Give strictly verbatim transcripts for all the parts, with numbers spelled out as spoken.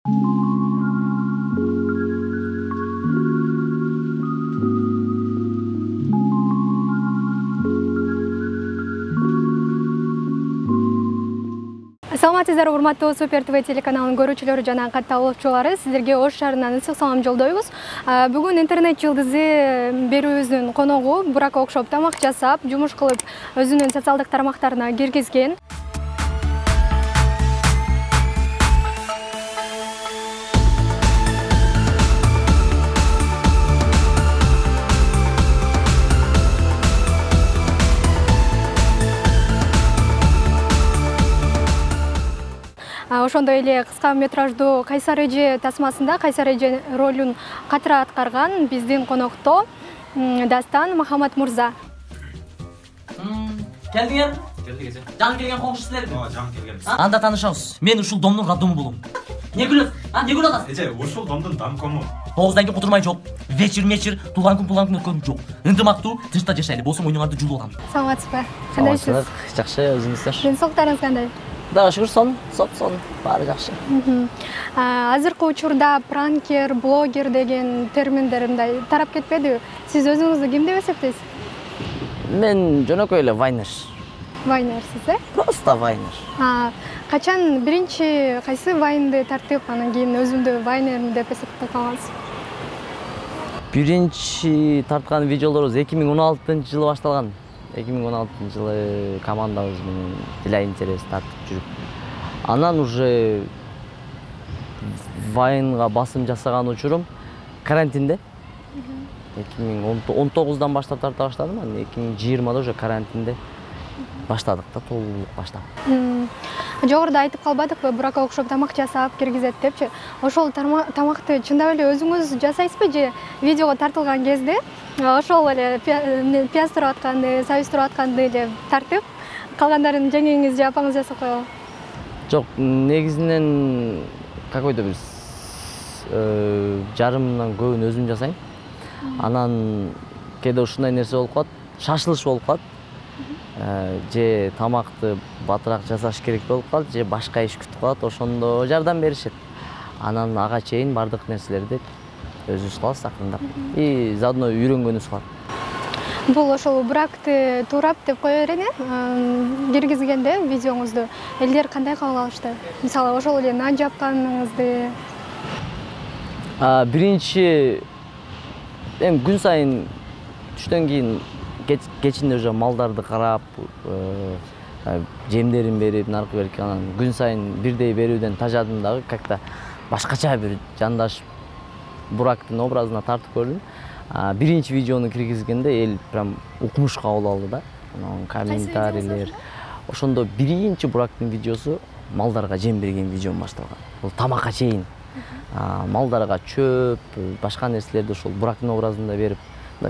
Саламатсыздар, урматтуу Супер ТВ телеканалынын көрүүчүлөрү жана катталуучулары, сиздерге Ош шаарынан ысык салам жолдойбуз. Бүгүн интернет жылдызы берүүбүздүн коногу Бурак окшоп тамак жасап, жумуш кылып, өзүнүн социалдык тармактарына киргизген. Ошондой эле кыска метраждуу Кайсар эже тасмасында Кайсар эже ролун катыра аткарган биздин конокто Дастан Махамат мырза. Келдиңер? Келдик эже. Жаңы келген коңшу силерби? Ооба, жаңы келгенбиз. Анда таанышабыз. Мен ушул домдун раддому болом. Не күлөсүң? А, не күлөт атасың? Эже, ушул домдун домкому. тогуздан кийин кутурмай жок. Вечер мечер, туулган күн туулган күн өткөн жок. Ынтымактуу тышта жашайлы. Болсо мойнуңарды жуулуп атам. Саламатсызбы? Кандайсыз? Жакшы, өзүңүздөр? Ден соолуктарыңыз кандай? Кудайга шүгүр, сон, соп, сон, баары жакшы. Азыркы учурда пранкер, блогер деген терминдер мындай тарап кетпедиби? Сиз өзүңүздү ким деп эсептейсиз? Мен жөнөкөй эле вайнер. Вайнерсиз, э? Просто вайнер. Качан биринчи кайсы вайнды тартып, анан кийин өзүмдү вайнермин деп эсептеп калгансыз? Биринчи тарткан видеолорубуз эки миң он алтынчы жылы башталган. эки миң он алтынчы жылы командабыз менен Дила интерес тартып жүрүп. Анан уже вайнга басым жасаган учурум карантинде. эки миң он тогуздан баштап тарта баштадым, анан эки миң жыйырмада уже карантинде баштадык да, толук баштап. Жогоруда айтып калбадыкпы, Буракка окшоп тамак жасап киргизет депчи. Ошол тамакты чындап эле өзүңүз жасайсызбы же видеого тартылган кезде ошол эле пияз туруп атканды, сабиз туруп атканды эле тартып, калгандарын жеңеңиз же апаңыз жасап койгон? Жок, негизинен какой-то бир жарымынан көбүн өзүм жасайм. Анан кээде ушундай нерсе болуп калат, шашылыш болуп калат. Же тамакты батыраак жасаш керек болуп калат, же башка иш күтүп калат, ошондо жардам беришет. Анан ага чейин бардык нерселерди өзүбүз кылабыз акырындап. И заодно үйрөнгөнүбүз калат. Бул ошол Буракты туурап деп кое берейин, киргизгенде видеоңузду элдер кандай кабыл алышты? Мисалы, ошол эле нан жапканыңызды. Биринчи эми күн сайын түштөн кийин кечинде уже малдарды карап, жемдерин берип, наркы берип, анан күн сайын бирдей берүүдөн тажадым дагы, как-то башкача бир жандаш Бурактын образына тартып көрдүм. Биринчи видеону киргизгенде эл прям укмуш кабыл алды да. Анан комментарийлер. Ошондо биринчи Бурактын видеосу малдарга жем берген видеом башталган. Бул тамакка чейин. Малдарга чөп, башка нерселерди ошол Бурактын образында берип,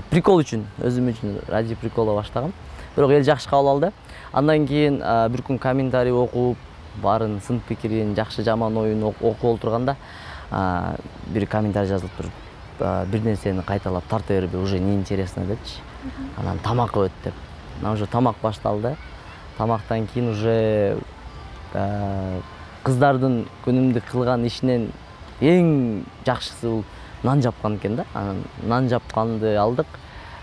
прикол үчүн, өзүм үчүн ради прикола баштагам. Бирок эл жакшы кабыл алды. Андан кийин бир күн комментарий окуп, баарын сын пикирин, жакшы жаман оюн окуп отурганда бир комментарий жазылып туруп, бир нерсени кайталап тарта берби, уже неинтересно депчи. Анан тамак өт деп. Анан уже тамак башталды. Тамактан кийин уже кыздардын күнүмдүк кылган ишинен эң жакшысы бул нан жапкан экен да. Анан нан жапканды алдык.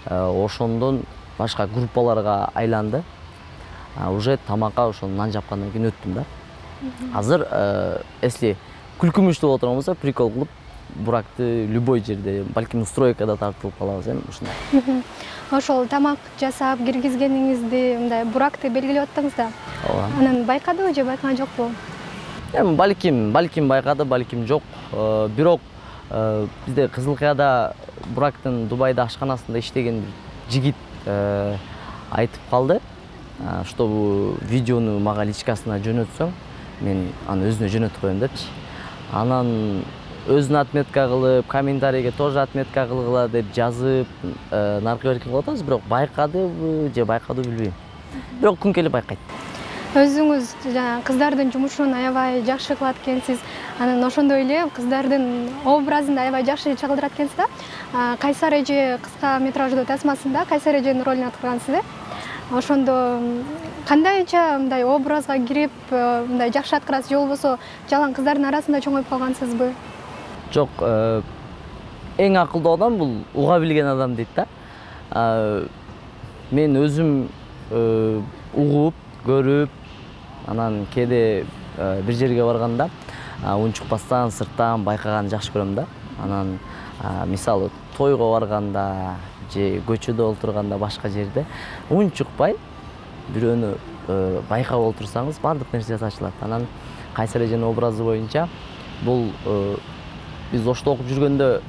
Ошондон башка группаларга айланды. Уже тамакка ошол нан жапкандан кийин өттүм да. Азыр если күлкүмүштүү болот болсо, прикол кылып Буракты любой жерде, балким стройкада тартылып калабыз эми ушундай. Ошол тамак жасап киргизгениңизди мындай Буракты белгилеп аттыңыз да. Ооба. Анан байкадыбы же байкаган жокпу? Эми балким, балким байкады, балким жок. Бирок бизде Кызыл Кыяда Бурактын Дубайда ашканасында иштеген бир жигит айтып калды, что видеону мага личкасына жөнөтсөң, мен аны өзүнө жөнөтүп коем депчи. Анан өзүнө отметка кылып, комментарийге тоже отметка кылгыла деп жазып, наркы берип кылып атабыз, бирок байкадыбы же байкадыбы билбейм. Бирок күн келип байкайт. Өзүңүз жана кыздардын жумушун аябай жакшы кылат экенсиз. Анан ошондой эле кыздардын образын да аябай жакшы чагылдырат экенсиз да. Кайсар эже кыска метраждуу тасмасында Кайсар эженин ролун аткаргансыз, э? ошондо кандайча мындай образга кирип мындай жакшы аткарасыз же болбосо жалаң кыздардын арасында чоңоюп калгансызбы? Жок, эң акылдуу адам бул уга билген адам дейт да. Мен өзүм угуп, көрүп, анан кээде бир жерге барганда унчукпастан, сырттан байкаганды жакшы көрөм да. Анан мисалы тойго барганда же көчөдө олтурганда башка жерде унчукпай бирөөнү байкап олтурсаңыз баардык нерсеси ачылат. Анан Кайсар эженин образы боюнча бул биз Ошто окуп жүргөндө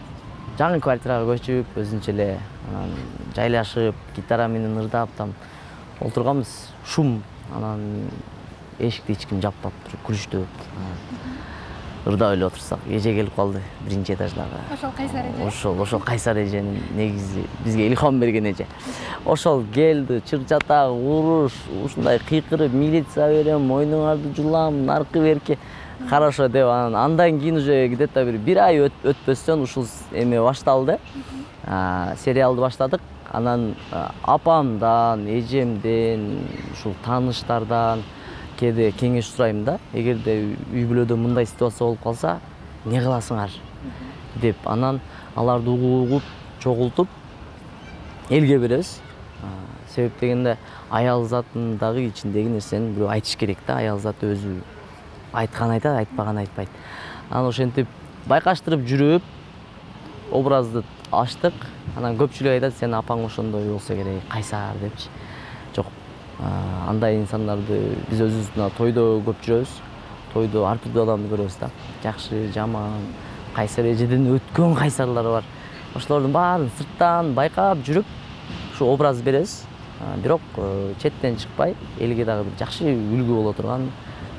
жаңы квартирага көчүп, өзүнчө эле анан жайлашып, гитара менен ырдап там олтурганбыз. Шум, анан эшикти эч ким жаппап, күлүштү. Ырдап эле отурсак, эже келип калды биринчи этаждагы. Ошол Кайсар эже. Ошол, ошол Кайсар эженин негизи бизге илхам берген эже. Ошол келди, чыр-чатак, уруш, ушундай кыйкырып, милиция берем, мойнуңарды жулам, наркы берки. Хорошо деп анан андан кийин уже где-то бир бир ай өтпөстөн ушул эме башталды. Сериалды баштадык. Анан апамдан, эжемден, ушул тааныштардан кээде кеңеш сурайм да. Эгерде үй бүлөдө мындай ситуация болуп калса, эмне кыласыңар деп анан аларды угуп, чогултуп элге беребиз. Себеп дегенде аял затынын дагы ичиндеги нерсени бирөө айтыш керек да. Аял заты өзү айткан айтат, айтпаган айтпайт. Анан ошентип байкаштырып жүрүп образды ачтык. Анан көпчүлүк айтат, сен апаң ошондой болсо керек, Кайсар депчи. Жок, андай инсандарды биз өзүбүз тойдо көп жүрөбүз. Тойдо ар түрдүү адамды көрөбүз да. Жакшы, жаман, Кайсар эжеден өткөн Кайсарлар бар. Ошолордун баарын сырттан байкап жүрүп, ушу образ беребиз. Бирок четтен чыкпай, элге дагы бир жакшы үлгү боло турган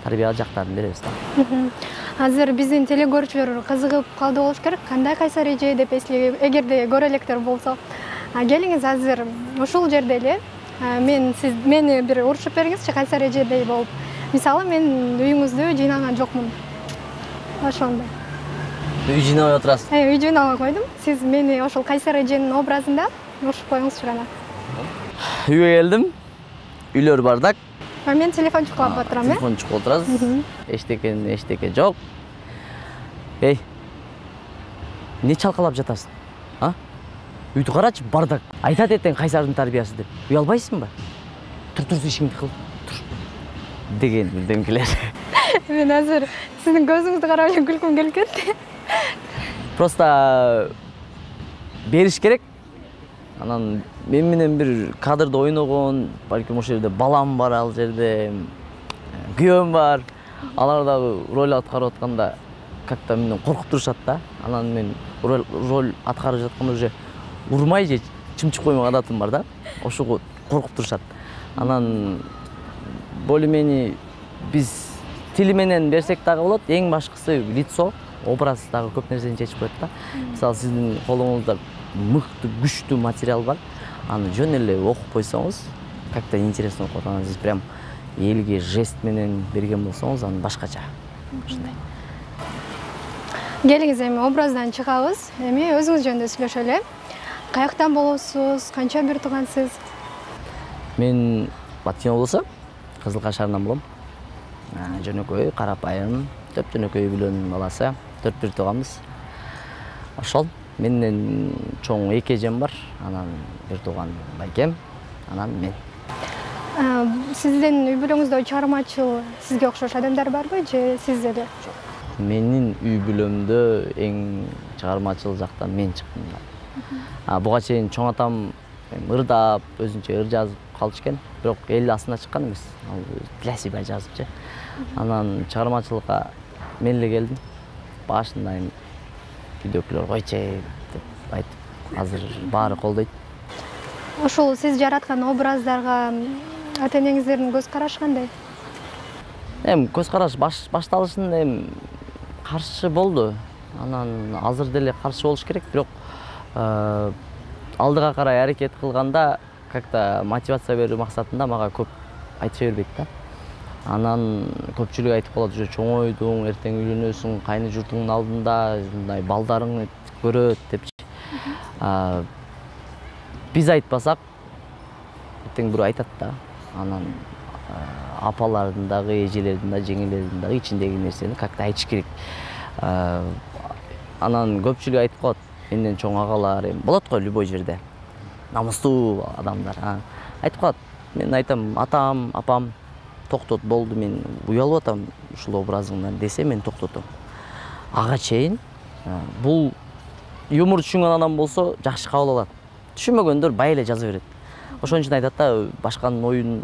тарбия жактарын беребиз да. Азыр биздин телекөрүүчүлөр кызыгып калды болуш керек. Кандай Кайсар эже деп эслеп, эгерде көрө электер болсо, келиңиз азыр ушул жерде эле мен сиз мени бир урушуп бериңизчи Кайсар эжедей болуп. Мисалы мен үйүңүздү жыйнаган жокмун. Ошондой. Үй жыйнабай отурасыз. Э, үй жыйнабай койдум. Сиз мени ошол Кайсар эженин образында урушуп коюңузчу гана. Үйгө келдим. Үйлөр бардак. Мен телефон чукулап отурам, э? Телефон чукулап отурасыз. Эчтекен, эчтеке жок. Эй, эмне чалкалап жатасың? А? Үйдү карачы, бардак. Айтат этең Кайсардын тарбиясы деп. Уй албайсыңбы? Тур, тур, ишиңди кыл. Тур. Деген бирдемкелер. Мен азыр сиздин көзүңүздү карап эле күлкүм келип кетти. Просто бериш керек. Анан мен менен бир кадрда ойногон, балким ошол жерде балам бар, ал жерде күйөөм бар. Алар дагы роль аткарып атканда как-то менден коркуп турушат да. Анан мен роль аткарып жатканда уже урмай же чымчып коймок адатым бар да. Ошого коркуп турушат. Анан более-менее биз тили менен берсек дагы болот. Эң башкысы лицо, образ дагы көп нерсени чечип коет да. Мисалы сиздин колуңузда мыкты, күчтүү материал бар. Аны жөн эле окуп койсоңуз, как-то интересно окуп, анан сиз прям элге жест менен берген болсоңуз, аны башкача. Ушундай. Келиңиз эми образдан чыгабыз. Эми өзүңүз жөнүндө сүйлөшөлү. Каяктан болосуз? Канча бир туугансыз? Мен Баткен облусу, Кызылкай шаарынан болом. Жөнөкөй, карапайым, төп жөнөкөй бүлөнүн баласы. Төрт бир тууганбыз. Ошол. Менден чоң эки эжем бар. Анан бир тууган байкем, анан мен. Сиздин үй бүлөңүздө чыгармачыл сизге окшош адамдар барбы же сиз эле? Менин үй бүлөмдө эң чыгармачыл жактан мен чыктым да. Буга чейин чоң атам ырдап, өзүнчө ыр жазып калчу экен. Бирок эл астына чыккан эмес. Ал для себя жазыпчы. Анан чыгармачылыкка мен эле келдим. Башында видеоклор койчу деп айтып, азыр баары колдойт. Ошол сиз жараткан образдарга ата-энеңиздердин көз карашы кандай? Эми көз караш башталышында эми каршы болду. Анан азыр деле каршы болуш керек, бирок алдыга карай аракет кылганда как-то мотивация берүү максатында мага көп айтыша бербейт да. Анан көпчүлүк айтып калат, уже чоңойдуң, эртең үйлөнөсүң, кайны журтуңдун алдында мындай балдарың көрөт депчи. Биз айтпасак, эртең бирөө айтат да, анан апалардын дагы, эжелердин да, жеңелердин дагы ичиндеги нерсени как-то айтыш керек. Анан көпчүлүк айтып коет, менден чоң агалар, эми болот го любой жерде. Намыстуу адамдар, айтып коет. Мен айтам, атам, апам токтот, болду, мен уялып атам ушул образыңдан десе, мен токтотом. Ага чейин бул юмор түшүнгөн адам болсо жакшы кабыл алат. Түшүнмөгөндөр бай эле жаза берет. Ошон үчүн айтат да, башканын оюн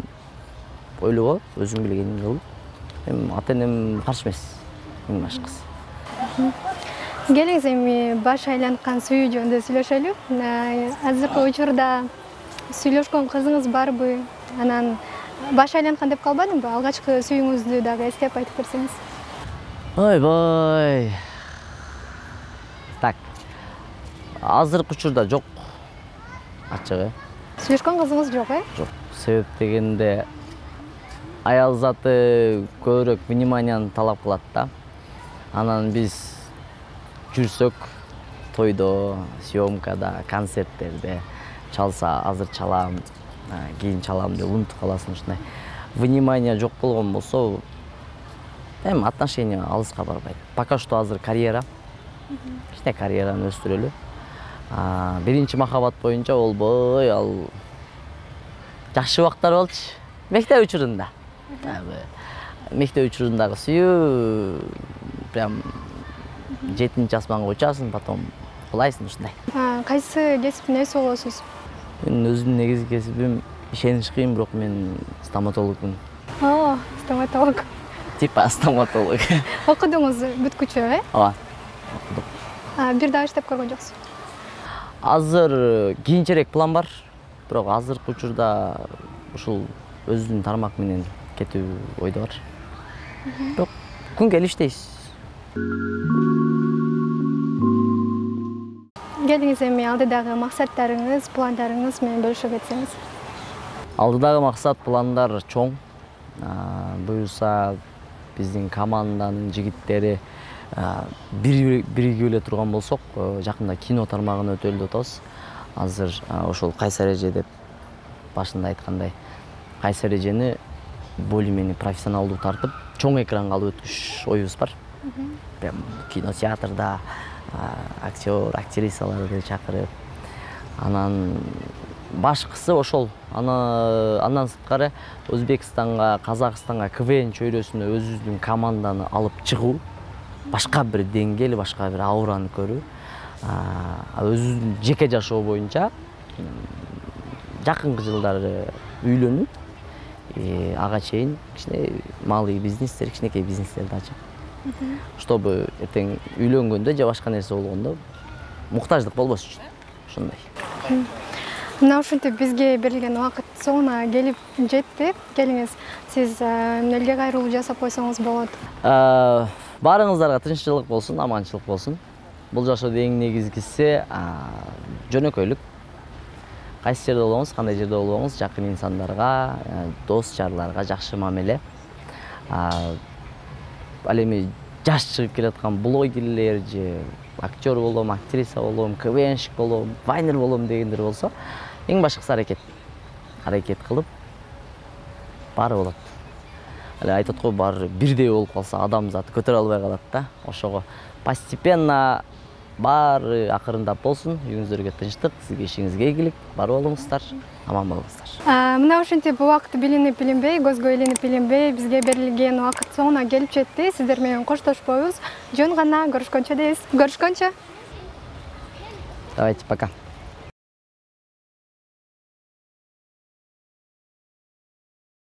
ойлого, өзүң билгениңди кыл. Эми ата-энем каршы эмес, эң башкысы. Келиңиз эми баш айланткан сүйүү жөнүндө сүйлөшөлү. Азыркы учурда сүйлөшкөн кызыңыз барбы? Анан баш айланткан деп калбадыңбы? Алгачкы сүйүүңүздү дагы эстеп айтып берсеңиз. Ойбой. Так. Азыркы учурда жок. Ачыгы. Сүйлөшкөн кызыңыз жок, э? Жок. Себеп дегенде аял заты көбүрөөк вниманияны талап кылат да. Анан биз жүрсөк, тойдо, съемкада, концерттерде чалса, азыр чалам, кийин чалам деп унутуп каласың ушундай. Внимание жок болгон болсо, эми отношения алыска барбайт. Пока что азыр карьера. Кичине карьераны өстүрөлү. Биринчи махаббат боюнча болбой, ал жакшы убактар болчу. Мектеп учурунда. Мектеп учурундагы сүйүү прям жетинчи асманга учасың, потом кулайсың ушундай. Кайсы кесиптин ээси болосуз? Мен өзүмдүн негизги кесибим ишениш кыйын, бирок мен стоматологмун. О, стоматолог. Типа стоматолог. Окудуңуз бүткүчө, э? Ооба. Окудук. Бир дагы иштеп көргөн жоксуз? Азыр кийинчерээк план бар, бирок азыркы учурда ушул өзүнүн тармак менен кетүү ойдо бар. Бирок күн келип иштейбиз. Келиңиз эми алдыдагы максаттарыңыз, пландарыңыз менен бөлүшө кетсеңиз. Алдыдагы максат, пландар чоң. Буюрса биздин команданын жигиттери биригип эле турган болсок, жакында кино тармагына өтөлү деп атабыз. Азыр ошол кайсы эреже деп башында айткандай, кайсы эрежени более-менее профессионалдуу тартып, чоң экранга алып өткүзүш оюбуз бар. Прям кинотеатрда актер, актрисаларды чакырып, анан башкысы ошол. Андан сырткары Өзбекстанга, Казакстанга КВН чөйрөсүнө өзүбүздүн команданы алып чыгуу, башка бир деңгээл, башка бир аураны көрүү. Өзүбүздүн жеке жашоо боюнча жакынкы жылдары үйлөнүп, ага чейин кичине малый бизнестер, кичинекей бизнестерди ачып, чтобы эртең үйлөнгөндө же башка нерсе болгондо муктаждык болбош үчүн. Ошондой. Мына ушинтип бизге берилген убакыт соңуна келип жетти. Келиңиз, сиз элге кайрылуу жасап койсоңуз болот. Баарыңыздарга тынччылык болсун, аманчылык болсун. Бул жашоодо эң негизгиси жөнөкөйлүк. Кайсы жерде болоңуз, кандай жерде болоңуз, жакын инсандарга, дос жарларга жакшы мамиле. Ал эми жаш чыгып келаткан блогерлер же актер болом, актриса болом, КВНщик болом, вайнер болом дегендер болсо, эң башкысы аракет. Аракет кылып баары болот. Эле айтат го, баары бирдей болуп калса адамзат көтөрө албай калат да. Ошого постепенно баары акырындап болсун, үйүңүздөргө тынчтык, сизге ишиңизге ийгилик, бар болуңуздар, аман болуңуздар. Мына ушинтип убакыт билинип билинбей, көзгө илинип билинбей, бизге берилген убакыт соңуна келип жетти. Сиздер менен коштошпойбуз. Жөн гана көрүшкөнчө дейбиз. Көрүшкөнчө. Давайте, пока.